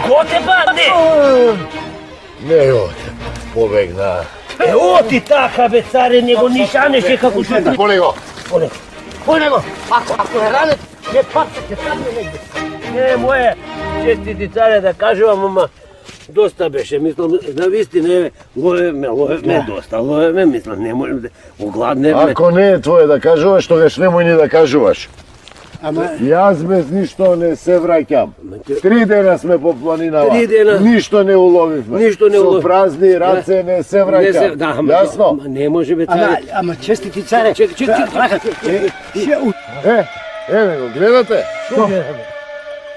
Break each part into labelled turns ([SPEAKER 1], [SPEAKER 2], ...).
[SPEAKER 1] Готе банде!
[SPEAKER 2] Не оте, побегна.
[SPEAKER 1] Оти така, бе, царе, него нишанеше како што...
[SPEAKER 2] По него!
[SPEAKER 1] По него! Ако е ранет, не паца, ќе падне негде. Не, моje, честити царе, да кажувам, ама доста беше, мислам, на вистина, лове доста, мислам, не можем да огладнеме.
[SPEAKER 2] Ако не е твое да кажуваш, тогаш немој ни да кажуваш.
[SPEAKER 1] Ама...
[SPEAKER 2] Јас без ништо не се враќам. 3 дена сме по планинава.
[SPEAKER 1] 3 дена.
[SPEAKER 2] Ништо не уловивме.
[SPEAKER 1] Со
[SPEAKER 2] празни раце не се враќам. Јасно?
[SPEAKER 1] Не може бе царе.
[SPEAKER 3] Ама честити царе.
[SPEAKER 1] Чек.
[SPEAKER 2] Еве го, гледате?
[SPEAKER 1] Што гледаме?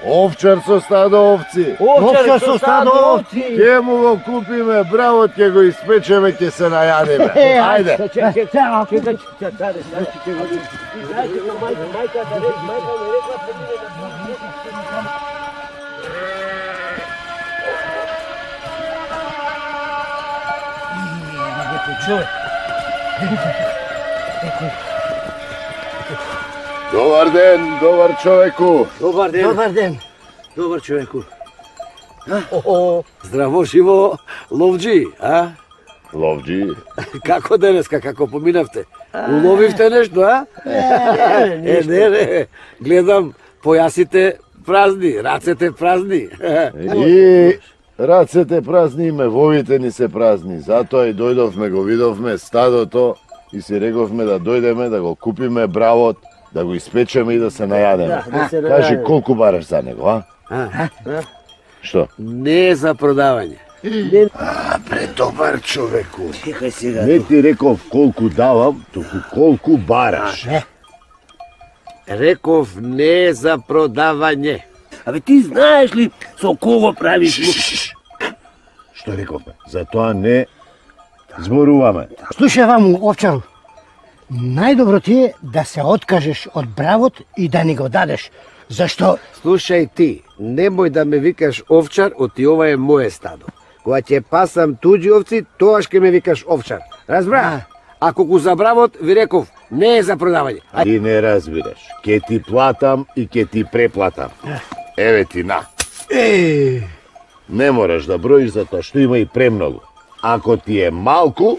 [SPEAKER 2] Овчар со стадо овци.
[SPEAKER 1] Овчар со стадо овци.
[SPEAKER 2] Ке му го купиме бравот, ке го испечеме, ке се најадиме. Ајде.
[SPEAKER 1] Чек, царе, знаете на мајка да рече, мајка ми рекла човек.
[SPEAKER 2] Добар ден, добар човеку.
[SPEAKER 1] Добар ден.
[SPEAKER 3] Добар ден.
[SPEAKER 1] Добар човеку. Здраво живо, ловџи, а?
[SPEAKER 2] Ловџи.
[SPEAKER 1] Како денеска, како поминавте? Уловивте нешто, а? Не. Гледам појасите празни, рацете празни.
[SPEAKER 2] И рацете празни, и мевовите ни се празни. Затоа и дојдовме, го видовме стадото и си рековме да дојдеме, да го купиме бравот, да го испечеме и да се најадеме. Кажи, колку бараш за него, а? Што?
[SPEAKER 1] Не е за продавање.
[SPEAKER 2] Предобар човеку.
[SPEAKER 1] Чекај сега.
[SPEAKER 2] Не ти реков колку давам, туку колку бараш.
[SPEAKER 1] Реков не е за продавање. Абе ти знаеш ли со кого правиш?
[SPEAKER 2] Што рековме? Затоа не зборуваме.
[SPEAKER 3] Слушај вам, овчару. Најдобро ти е да се откажеш од бравот и да ни го дадеш. Зашто?
[SPEAKER 1] Слушај ти, немој да ме викаш овчар, оти ова е моје стадо. Кога ќе пасам туѓи овци, тоаш ќе ме викаш овчар. Разбра? Ако го забравот, ви реков, не е за продавање.
[SPEAKER 2] Ти не разбираш. Ке ти платам и ке ти преплатам. Еве ти на. Не мораш да броиш затоа што има и премногу. Ако ти е малку,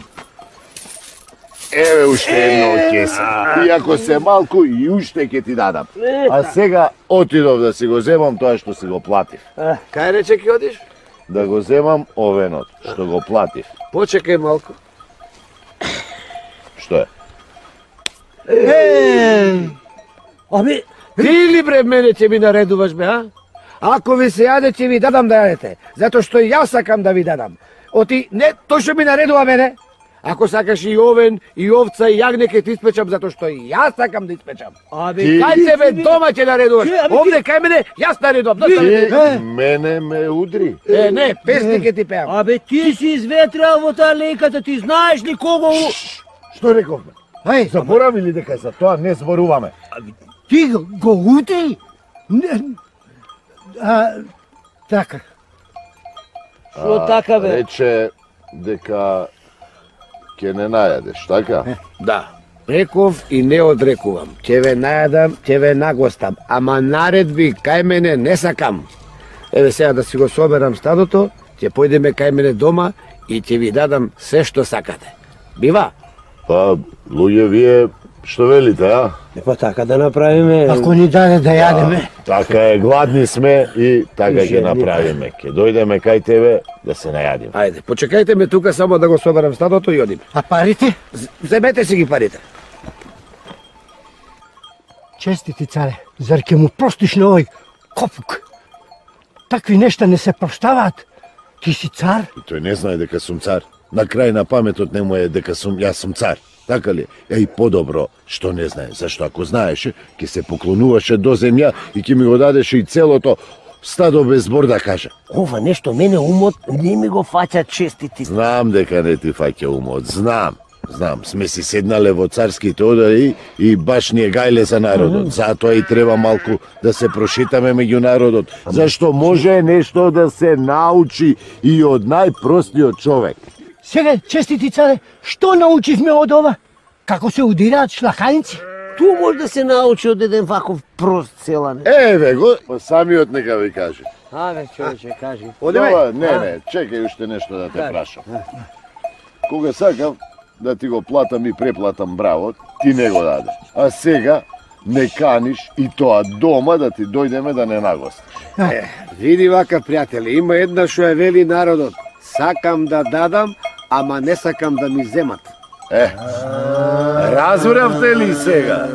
[SPEAKER 2] еве уште едно од кеса. И ако се малку, и уште ќе ти дадам. А сега отидов да си го земам тоа што си го платив.
[SPEAKER 1] Кај рече ќе одиш?
[SPEAKER 2] Да го земам овенот, што го платив.
[SPEAKER 1] Почекај малку.
[SPEAKER 2] Што е?
[SPEAKER 1] Абе, ти ли бре мене ќе ми наредуваш бе, а? Ако ви се јаде, ќе ви дадам да јадете. Затоа што јас сакам да ви дадам. Оти, не, тој што ми наредува мене. Ако сакаш и овен, и овца, и јагне ќе ти испечам, затоа што и јас сакам да испечам.
[SPEAKER 3] Абе,
[SPEAKER 1] Кај тебе дома ќе наредуваш? Овде кај мене, јас наредувам.
[SPEAKER 2] Ти мене ме удри.
[SPEAKER 1] Не, песни ќе ти пеам.
[SPEAKER 4] Абе ти си изветрал во таа лејката, ти знаеш ли кого...
[SPEAKER 2] Што рековме? Заборави ли дека за тоа не зборуваме?
[SPEAKER 3] Ти го удри? Така.
[SPEAKER 4] Шо така бе?
[SPEAKER 2] Рече дека ќе не најадеш, така?
[SPEAKER 1] Да. Реков и не одрекувам. Ќе ве најадам, ќе ве нагостам. Ама наредби кај мене не сакам. Еве сега да си го соберам стадото, ќе појдеме кај мене дома и ќе ви дадам се што сакате. Бива?
[SPEAKER 2] Па, луѓе, вие што велите, а?
[SPEAKER 1] Па така да направиме.
[SPEAKER 3] Ако ни даде да јадеме.
[SPEAKER 2] Така е, гладни сме и така ќе направиме. Ќе дојдеме кај тебе да се најадиме.
[SPEAKER 1] Ајде, почекајте ме тука само да го соберам стадото и одиме.
[SPEAKER 3] А парите?
[SPEAKER 1] Земете си ги парите.
[SPEAKER 3] Честити царе, зар ќе му простиш на овој копук? Такви нешта не се проштаваат. Ти си цар?
[SPEAKER 2] И тој не знае дека сум цар. На крај на паметот не му е дека јас сум цар. Така ли? И подобро што не знае, зашто ако знаеше, ќе се поклонуваше до земја и ќе ми го дадеше и целото стадо без збор да каже.
[SPEAKER 4] Ова нешто мене умот не ми го фаќа честити.
[SPEAKER 2] Знам дека не ти фаќа умот, знам. Сме си седнале во царските одари и баш ни е гајле за народот. Затоа и треба малку да се прошетаме меѓу народот, зашто може нешто да се научи и од најпростиот човек.
[SPEAKER 3] Сега, честити царе, што научивме од ова? Како се удираат шлаханици?
[SPEAKER 4] Ту може да се научи од еден ваков прост селане.
[SPEAKER 2] Еве го, па самиот нека ви каже.
[SPEAKER 4] Аве, човече, кажи.
[SPEAKER 2] Ова, не, чекај уште нешто да те прашам. Кога сакав да ти го платам и преплатам бравот, ти не го дадеш. А сега не каниш и тоа дома да ти дојдеме да не нагостиш.
[SPEAKER 1] Види вака, пријатели, има една што е вели народот. Сакам да дадам, ама не сакам да ми земат.
[SPEAKER 2] Разбравте ли сега?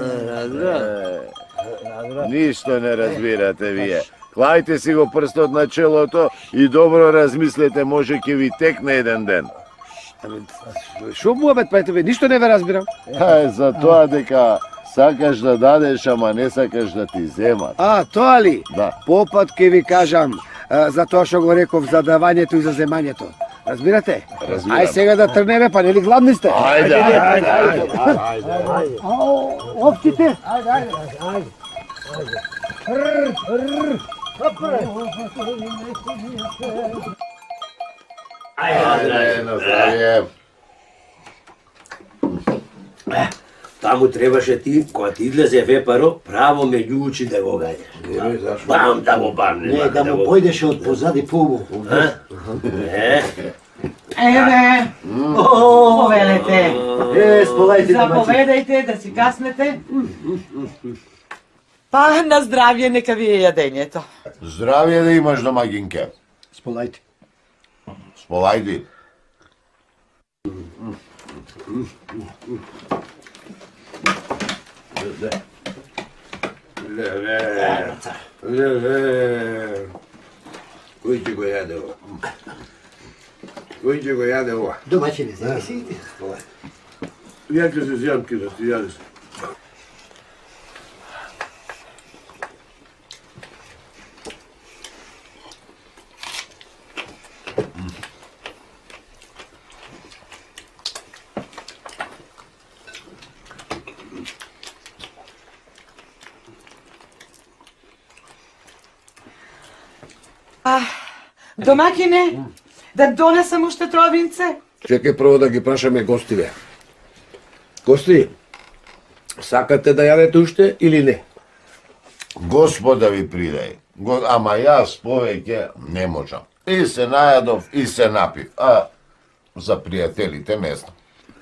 [SPEAKER 2] Ништо не разбирате вие. Клајте си го прстот на челото и добро размислете, може ќе ви текне еден ден.
[SPEAKER 1] Шо муабет, пријатели, ништо не ве разбирам.
[SPEAKER 2] За тоа дека сакаш да дадеш, ама не сакаш да ти земат.
[SPEAKER 1] А, тоа ли?
[SPEAKER 2] Да.
[SPEAKER 1] Попат ќе ви кажам за тоа што го реков за давањето и за земањето. Разбирате?
[SPEAKER 2] Разбирам.
[SPEAKER 1] Ај сега да трнеме, па нели гладни сте?
[SPEAKER 2] Ајде.
[SPEAKER 3] Овците!
[SPEAKER 2] Ајде, на здравје.
[SPEAKER 5] Таму требаше ти, кога ти излезе вепаро, право меѓу очи да го гаѓаш. Бам да го бамне.
[SPEAKER 4] Не, да му појдеше од позади пубу.
[SPEAKER 6] Еве, повелете.
[SPEAKER 4] Сполајте
[SPEAKER 6] Заповедајте да си каснете. Па, на здравје, нека ви е јадењето.
[SPEAKER 2] Здравје да имаш, домагинке.
[SPEAKER 3] Сполајте.
[SPEAKER 2] Сполајди.
[SPEAKER 5] Кој ќе го јаде ова? Кој ќе го јаде ова?
[SPEAKER 3] Домаќини, си.
[SPEAKER 5] Ја ќе се зјам ке да ти јадеш.
[SPEAKER 6] Домакине, да донесам уште тровинце?
[SPEAKER 1] Чекај прво да ги прашаме гостиве. Гости, сакате да јадете уште или не?
[SPEAKER 2] Господа ви придај. Ама јас повеќе не можам. И се најадов, и се напив. А за пријателите не знам.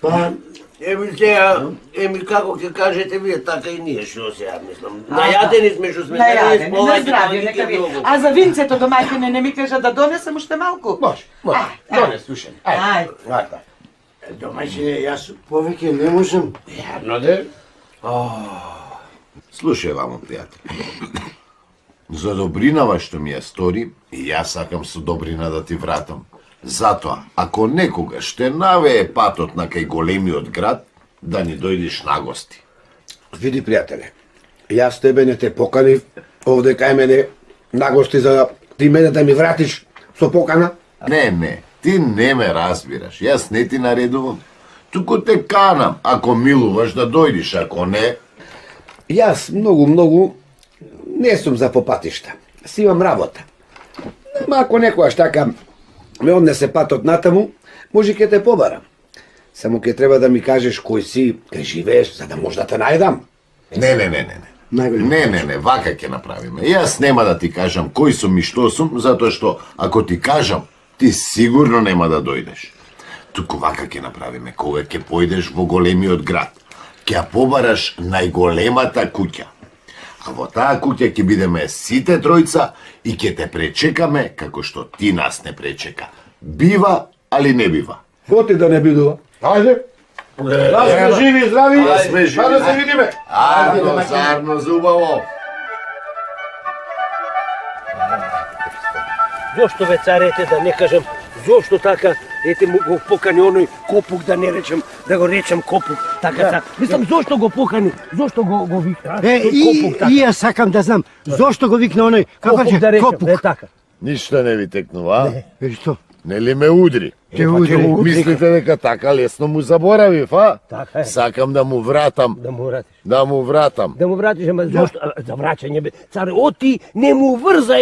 [SPEAKER 4] Па, еми како ќе кажете вие, така и ние што сега мислам. Најадени сме што сме
[SPEAKER 6] Најадени, на здравје, нека ви. А за винцето, домакине, не ми кажа да донесам уште малку?
[SPEAKER 1] Може. Донес уште.
[SPEAKER 6] Ај.
[SPEAKER 4] Домаќине, јас повеќе не можам.
[SPEAKER 1] Јавно де?
[SPEAKER 2] Слушај, вамо, пријател. За добринава што ми ја стори, и јас сакам со добрина да ти вратам. Затоа, ако некогаш те навее патот на кај големиот град, да ни дојдеш на гости.
[SPEAKER 1] Види, пријателе, јас тебе не те поканив овде кај мене на гости за ти мене да ми вратиш со покана.
[SPEAKER 2] Не, ти не ме разбираш. Јас не ти наредувам. Туку те канам, ако милуваш да дојдиш, ако не...
[SPEAKER 1] Јас многу не сум за попатишта. Си имам работа. Ма ако некојаш така ме однесе патот натаму, може ќе те побарам. Само ќе треба да ми кажеш кој си, кај живееш, за да може да те најдам.
[SPEAKER 2] Не, вака ќе направиме. Јас нема да ти кажам кој сум и што сум, затоа што ако ти кажам, ти сигурно нема да дојдеш. Туку вака ќе направиме, кога ќе појдеш во големиот град, ќе ја побараш најголемата куќа. А во таа куќа ќе бидеме сите тројца и ќе те пречекаме како што ти нас не пречека. Бива, али не бива.
[SPEAKER 1] Коти да не бидува. Ајде. Да сме живи и здрави.
[SPEAKER 2] Да сме живи.
[SPEAKER 1] Па да се видиме.
[SPEAKER 2] Ајде, зарно зубаво.
[SPEAKER 4] Зошто ве царете, да не кажам, Зошто така, ете му го покани оној Копук, да не речем, да го речем Копук, така. Мислам, зошто го покани, зошто го вика?
[SPEAKER 3] И јас сакам да знам, зошто го викна оној, како
[SPEAKER 4] Копук
[SPEAKER 3] ќе
[SPEAKER 4] да речем,
[SPEAKER 3] Копук?
[SPEAKER 4] така.
[SPEAKER 2] Ништо не ви текнува, а?
[SPEAKER 3] Што?
[SPEAKER 2] Нели ме удри?
[SPEAKER 3] Те удри.
[SPEAKER 2] Мислите дека така лесно му заборавив, а?
[SPEAKER 4] Така е.
[SPEAKER 2] Сакам да му вратам.
[SPEAKER 4] Да му вратиш.
[SPEAKER 2] Да му вратам.
[SPEAKER 4] Да му вратиш, ама зошто? За враќање, бе. Царе, оти не му врза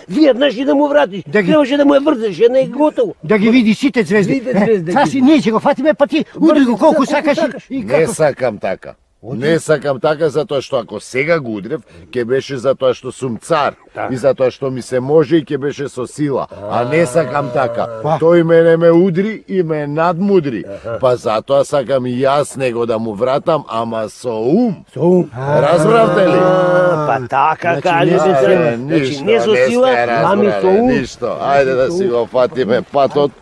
[SPEAKER 4] веднаш и да му вратиш. Требаше да му ја врзаш една и готово.
[SPEAKER 3] Да ги види сите звезди.
[SPEAKER 4] Види звезди.
[SPEAKER 3] Цаси, ние ќе го фатиме, па ти удри го колку сакаш и
[SPEAKER 2] Не
[SPEAKER 3] како.
[SPEAKER 2] сакам така. Не сакам така затоа што ако сега го удрев, ќе беше затоа што сум цар и затоа што ми се може и ќе беше со сила, а не сакам така. Тој мене ме удри и ме надмудри, па затоа сакам и јас него да му вратам, ама со ум.
[SPEAKER 4] Со ум.
[SPEAKER 2] Разбравте ли?
[SPEAKER 4] Па така кажете се. Значи не со сила, ами со ум.
[SPEAKER 2] Ништо. Ајде да си го фатиме патот.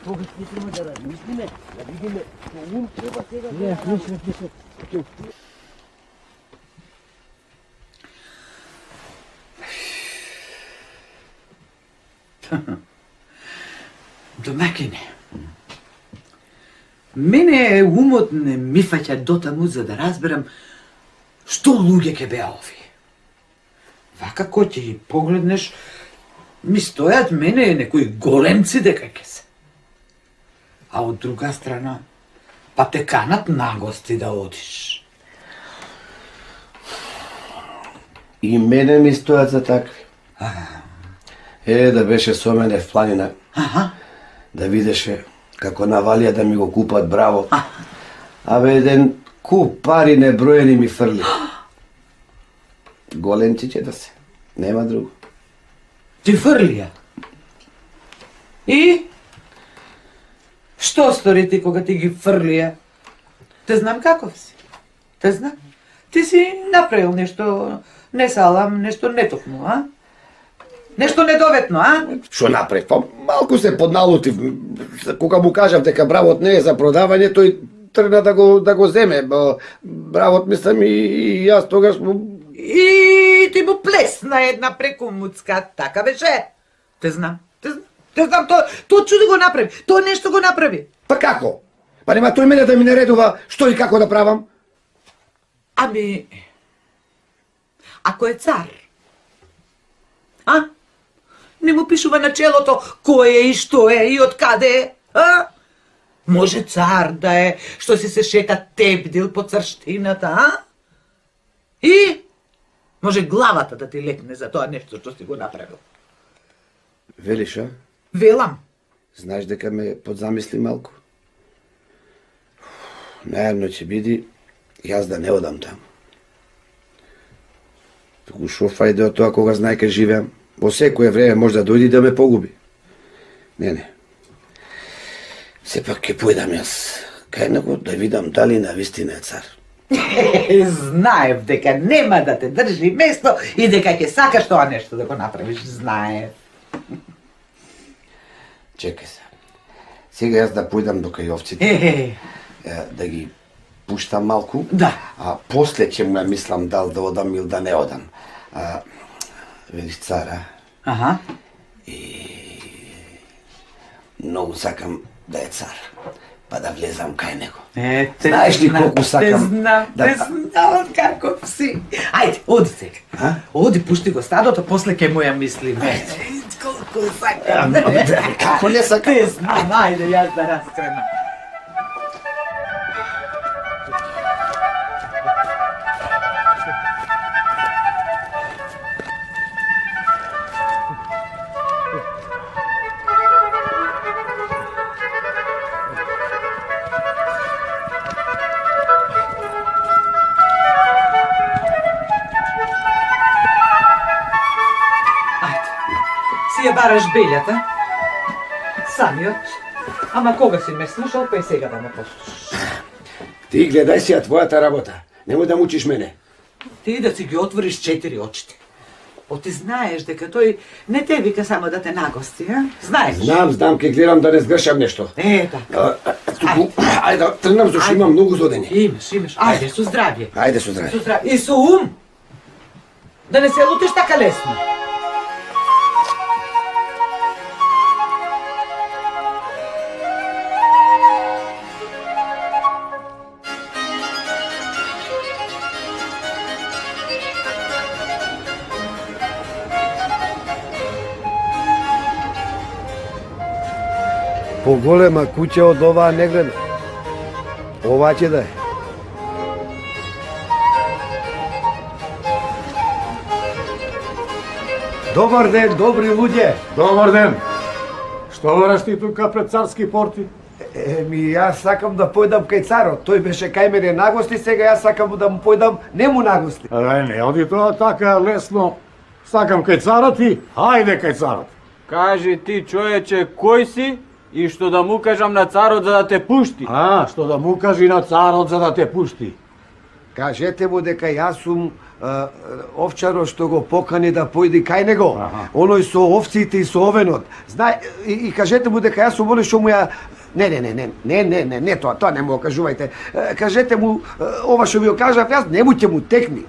[SPEAKER 4] Тогаш не треба да размислиме, да видиме со ум треба сега.
[SPEAKER 6] Домакине, мене умот не ми фаќа дотаму за да разберам што луѓе ќе беа овие. Вака кој ќе ги погледнеш, ми стојат мене некои големци дека ќе се. А од друга страна, па те канат на гости да одиш.
[SPEAKER 1] И мене ми стојат за такви. Да беше со мене в планина, да видеше како навалија да ми го купат браво. Абе, еден куп пари неброени ми фрли. Големци ќе да се, нема друго.
[SPEAKER 6] Ти фрлија. И? Што стори ти кога ти ги фрлија? Те знам каков си. Те знам. Ти си направил нешто не салам, нешто нетокно, а? Нешто недоветно, а?
[SPEAKER 1] Што направив? Па малку се подналутив. Кога му кажав дека бравот не е за продавање, тој тргна да го земе. Бравот мислам и јас тогаш му...
[SPEAKER 6] И ти му плесна една преку муцка, така беше? Те знам. Те знам, тоа чуди го направи. Тоа нешто го направи.
[SPEAKER 1] Па како? Па нема тој мене да ми наредува што и како да правам?
[SPEAKER 6] Ами, ако е цар, а? Не му пишува на челото кој е и што е и од каде е, а? Може цар да е, што си се шета тебдил по царштината, а? И може главата да ти лекне за тоа нешто што си го направил.
[SPEAKER 1] Велиш, а?
[SPEAKER 6] Велам.
[SPEAKER 1] Знаеш дека ме подзамисли малку? Најавно ќе биди јас да не одам таму. Туку шо фајде од тоа кога знае ке живеам? Во секое време може да дојди да ме погуби. Не. Сепак ќе појдам јас кај него да видам дали навистина е цар.
[SPEAKER 6] Знаев дека нема да те држи место и дека ќе сакаш тоа нешто да го направиш. Знаев.
[SPEAKER 1] Чекај се. Сега јас да појдам до кај овците. Да ги пуштам малку.
[SPEAKER 6] Да.
[SPEAKER 1] А после ќе му мислам дал да одам или да не одам. Видиш цара.
[SPEAKER 6] Аха.
[SPEAKER 1] И многу сакам да е цар. Па да влезам кај него. Знаеш ли колку сакам?
[SPEAKER 6] Те знам каков си. Ајде, оди сега. Оди, пушти го стадото, после ќе му ја мислиме. Колку сакам.
[SPEAKER 1] Како не сакам?
[SPEAKER 6] Те знам, ајде, јас да раскренам. Си ја бараш белјата, самиот, ама кога си ме слушал, па и сега да ме послушаш.
[SPEAKER 1] Ти гледај си ја твојата работа. Немој да мучиш мене.
[SPEAKER 6] Ти да си ги отвориш 4 очите. Ти знаеш дека тој не те вика само да те нагости, а? Знаеш?
[SPEAKER 1] Знам, ќе гледам да не сгрешам нешто.
[SPEAKER 6] Така.
[SPEAKER 1] Туку, ајде да тргнам, зашто имам многу зодени.
[SPEAKER 6] Имаш. Ајде, со здравје.
[SPEAKER 1] Ајде со здравје.
[SPEAKER 6] И со ум. Да не се лутиш така лесно.
[SPEAKER 1] Поголема куќа од оваа не гледам. Ова ќе да е. Добар ден, добри луѓе.
[SPEAKER 7] Добар ден. Што бараш ти тука пред царски порти?
[SPEAKER 1] Јас сакам да појдам кај царот. Тој беше кај мене нагости, сега јас сакам да му појдам нему нагости.
[SPEAKER 7] Не оди тоа така лесно. Сакам кај царот и хајде кај царот.
[SPEAKER 8] Кажи ти, човече, кој си и што да му кажам на царот за да те пушти?
[SPEAKER 7] Што да му кажи на царот за да те пушти?
[SPEAKER 1] Кажете му дека јас сум овчарот што го покани да појди кај него. Оној со овците и со овенот. И кажете му дека јас сум оној што му ја... Не, тоа не му го кажувајте. Кажете му, ова што ви го кажав јас, нему ќе му текни.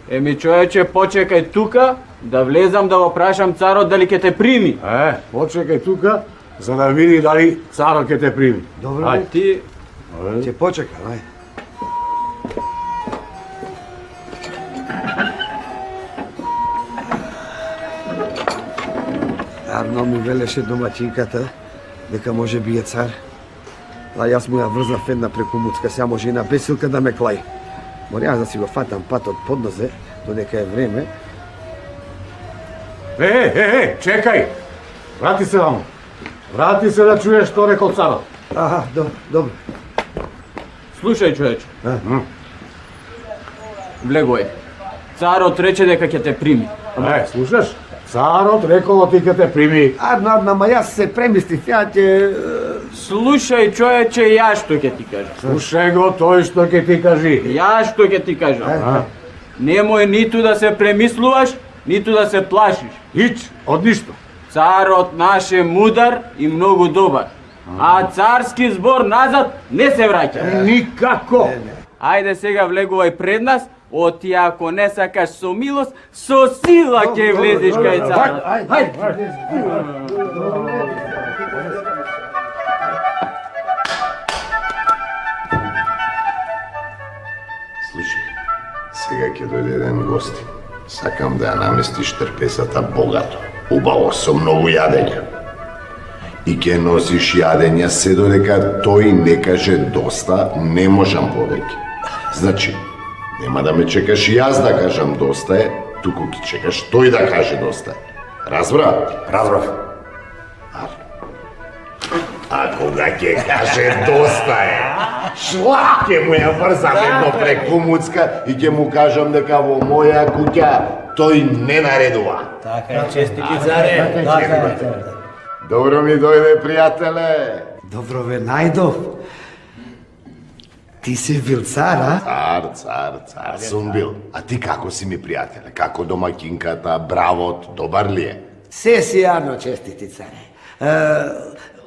[SPEAKER 8] Еми, човече, почекај тука, да влезам да го прашам царот дали ќе те прими.
[SPEAKER 7] Почекај тука, за да види дали царот ќе те прими.
[SPEAKER 1] Добро,
[SPEAKER 8] Ти...
[SPEAKER 1] ќе почекам, ај. Арно ми велеше домаќинката дека може би е цар. А јас му ја врзнав една преку муцка, сега може и на бесилка да ме клаи. Мора јас да си го фатам патот под нозе, додека е време.
[SPEAKER 7] Чекај! Врати се ваму. Врати се да чуеш што рекол царот.
[SPEAKER 1] Добро.
[SPEAKER 8] Слушај, човече. Влегој. Царот рече дека ќе те прими.
[SPEAKER 7] Слушаш? Царот рекол ти ќе те прими.
[SPEAKER 1] Арно, ма јас се премислив, ја ќе...
[SPEAKER 8] Слушај, човече, јас што ќе ти кажам.
[SPEAKER 7] Слушај го тој што ќе ти кажи.
[SPEAKER 8] Јас што ќе ти кажам. Немој ниту да се премислуваш, ниту да се плашиш.
[SPEAKER 7] Од ништо.
[SPEAKER 8] Царот наш е мудар и многу добар. А царски збор назад не се враќа.
[SPEAKER 7] Никако.
[SPEAKER 8] Ајде сега влегувај пред нас, оти ако не сакаш со милост, со сила ќе влезеш кај царот.
[SPEAKER 2] Слушај, сега ќе дојде еден гости. Сакам да ја наместиш трпесата богато, убаво, со многу јадење. И ќе носиш јадење се додека тој не каже доста, не можам повеќе. Значи, нема да ме чекаш јас да кажам доста е, туку ќе чекаш тој да каже доста е. Разбра?
[SPEAKER 5] Разбрав.
[SPEAKER 2] А кога ќе каже доста е, шла ќе му ја врзам едно преку муцка и ќе му кажам дека во моја куќа тој не наредува.
[SPEAKER 5] Така е, честити царе.
[SPEAKER 2] Добро ми дојде, пријателе.
[SPEAKER 1] Добро ве најдов. Ти си бил цар, а?
[SPEAKER 2] Цар сум бил. А ти како си ми, пријателе? Како домаќинката, бравот, добар ли е?
[SPEAKER 1] Се си јарно, честити царе.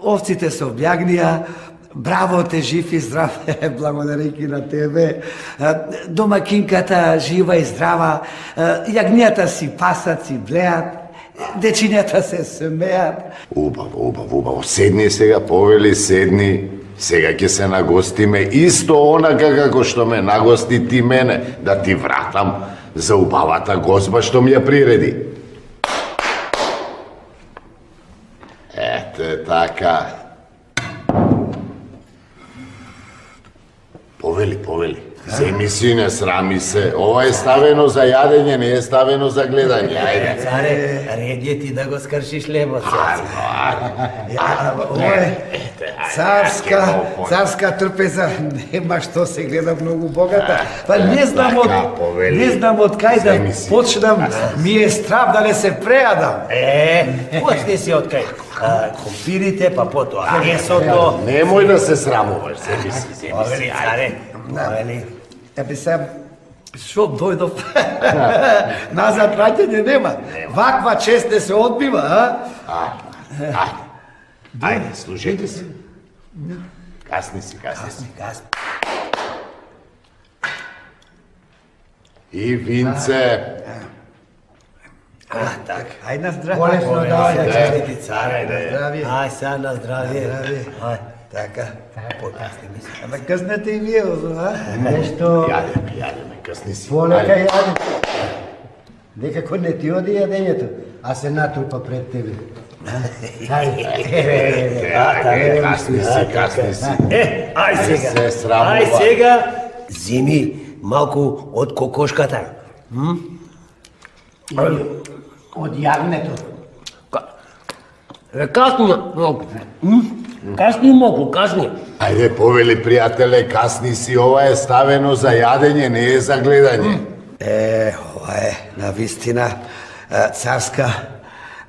[SPEAKER 1] Овците се објагнија, бравот е жив и здрав, благодарејќи на тебе. Домакинката жива и здрава, јагнијата си пасат, си блеат, дечињата се смеат.
[SPEAKER 2] Убаво. Седни сега, повели, седни. Сега ќе се нагостиме исто онака како што ме нагости ти мене, да ти вратам за убавата гозба што ми ја приреди. Ете така. Повели. Земи си, не срами се. Ова е ставено за јадење, не е ставено за гледање. Ајде.
[SPEAKER 5] Царе, ред е ти да го скршиш лебот.
[SPEAKER 1] Ова е царска трпеза, нема што се гледа многу богата. Па не знам од кај да почнам, ми е страв да не се преадам.
[SPEAKER 5] Почни си од кај. Компирите, па потоа месото.
[SPEAKER 2] Немој да се срамуваш, земи си.
[SPEAKER 5] Повели, царе.
[SPEAKER 1] Ебе се, шо дојдов? Назад враќање нема. Ваква чест не се одбива, а?
[SPEAKER 2] Ајде, слушајте се. Касни си. И винце.
[SPEAKER 5] Така.
[SPEAKER 1] Ај на здравје.
[SPEAKER 3] Болесно да
[SPEAKER 5] Честити царе.
[SPEAKER 1] Здравје.
[SPEAKER 5] Ај, сега на здравје. Ај,
[SPEAKER 1] Така.
[SPEAKER 5] покасни ми се.
[SPEAKER 1] Ама къснете и вие, а?
[SPEAKER 3] Нешто
[SPEAKER 2] Јадеме, касни си.
[SPEAKER 3] полека јаде. Некако не ти оди јадењето, а се натрупа пред тебе.
[SPEAKER 2] Касни си.
[SPEAKER 4] Ај
[SPEAKER 2] се срамува.
[SPEAKER 4] Ај сега, земи малку од кокошката.
[SPEAKER 3] Од јагнето.
[SPEAKER 4] Касни малку. Касни малку, касни.
[SPEAKER 2] Ајде, повели, пријателе, касни си, ова е ставено за јадење, не е за гледање.
[SPEAKER 1] Ова е навистина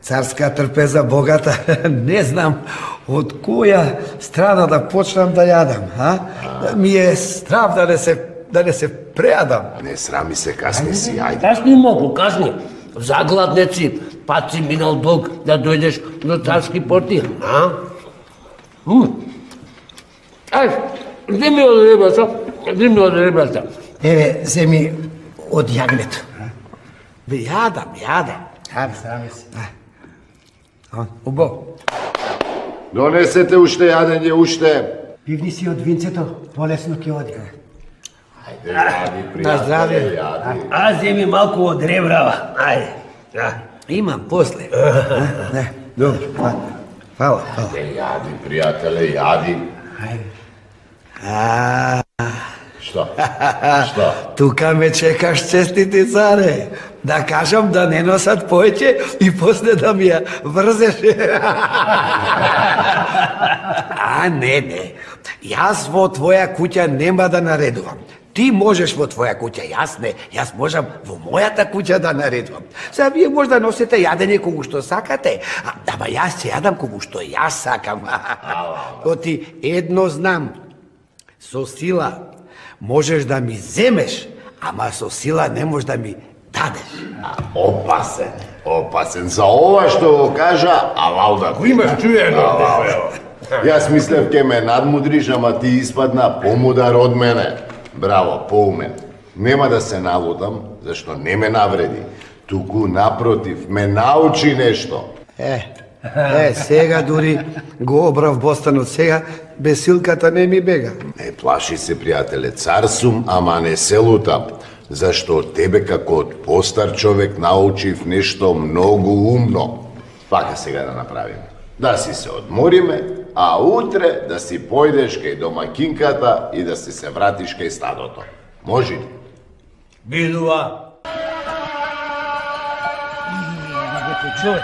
[SPEAKER 1] царска трпеза богата. Не знам од која страна да почнам да јадам, а? Ми е страв да не се прејадам.
[SPEAKER 2] Не срами се, касни си, ајде.
[SPEAKER 4] Касни малку, касни. Загладнеци, пат си минал долг да дојдеш до царски порти, а? Ај, земи од ребрата.
[SPEAKER 3] Еве, земи од јагнето.
[SPEAKER 1] Бе, јадам.
[SPEAKER 3] Срами се.
[SPEAKER 1] Убаво.
[SPEAKER 2] Донесете уште јадење, уште.
[SPEAKER 3] Пивни си од винцето, полесно ќе оди.
[SPEAKER 2] Ајде, јади,
[SPEAKER 1] На здравје.
[SPEAKER 2] пријателе, јади.
[SPEAKER 4] А земи малку од ребрава. Ајде.
[SPEAKER 1] Имам после. Не, добро. Фала.
[SPEAKER 2] Јади, пријателе, јади. Што? Што?
[SPEAKER 1] Тука ме чекаш, честити царе. Да кажам да не носат поеќе и после да ми ја врзеш. Не. Јас во твоја куќа нема да наредувам. Ти можеш во твоја куќа, јас не. Јас можам во мојата куќа да наредувам. Сега вие може да носите јадење кога што сакате, ама јас ќе јадам кога што јас сакам. Оти едно знам, со сила можеш да ми земеш, ама со сила не можеш да ми дадеш.
[SPEAKER 2] Опасен. За ова што го кажа, алауда. Кој имаш чуено? Јас мислев ке ме надмудриш, ама ти испадна помудар од мене. Браво, поумен. Нема да се налудам, зашто не ме навреди. Туку напротив, ме научи нешто.
[SPEAKER 1] Сега дури го обрав бостанот, сега без силката не ми бега.
[SPEAKER 2] Не плаши се, пријателе, цар сум, ама не се лутам. Зашто од тебе како од постар човек научив нешто многу умно. Вака сега да направиме. Да си се одмориме, а утре да си појдеш кај домакинката и да си се вратиш кај стадото. Може ли?
[SPEAKER 4] Бидува.
[SPEAKER 3] Човек.